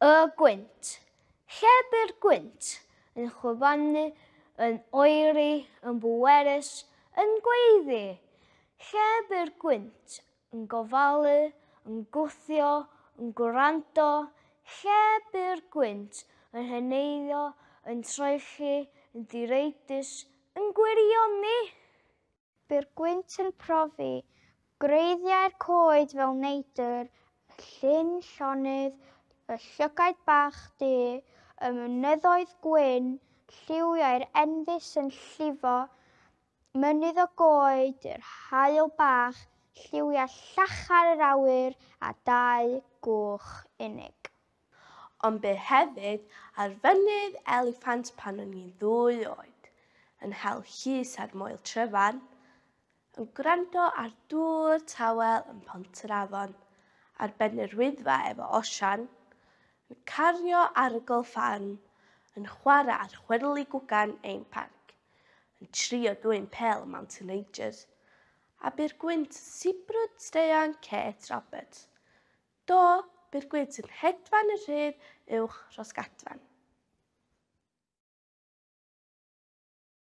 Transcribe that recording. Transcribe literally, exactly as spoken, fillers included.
Y gwynt. Lle bu'r gwynt? Yn chwifanu, yn oeri, yn bwerus, yn gweiddi. Lle bu'r gwynt? Yn gofalu, yn gwthio, yn gwrando. Lle bu'r gwynt? Yn heneiddio, yn troelli, yn ddireidus, yn gwirioni. Bu'r gwynt yn profi gwreiddiau'r coed fel neidr, y llyn llonydd, y llygaid bach du, y mynyddoedd gwyn, lliwiau'r enfys yn llifo, mynydd o goed, yr haul bach, lliwiau llachar yr awyr a dau gwch unig. Ond bu hefyd ar fynydd eliffant pan o'n i'n ddwy oed, yn hel llus ar Moel Tryfan, yn gwrando ar dŵr tawel yn Pont yr Afon, ar ben yr Wyddfa efo Osian, yn cario arogl ffarm, yn chwarae ar chwyrli gwgan ein parc, yn trio dwyn pêl y Mountain Rangers, a bu'r gwynt yn sibrwd straeon Kate Roberts. Do, bu'r gwynt yn hedfan y rhydd uwch Rhosgadfan.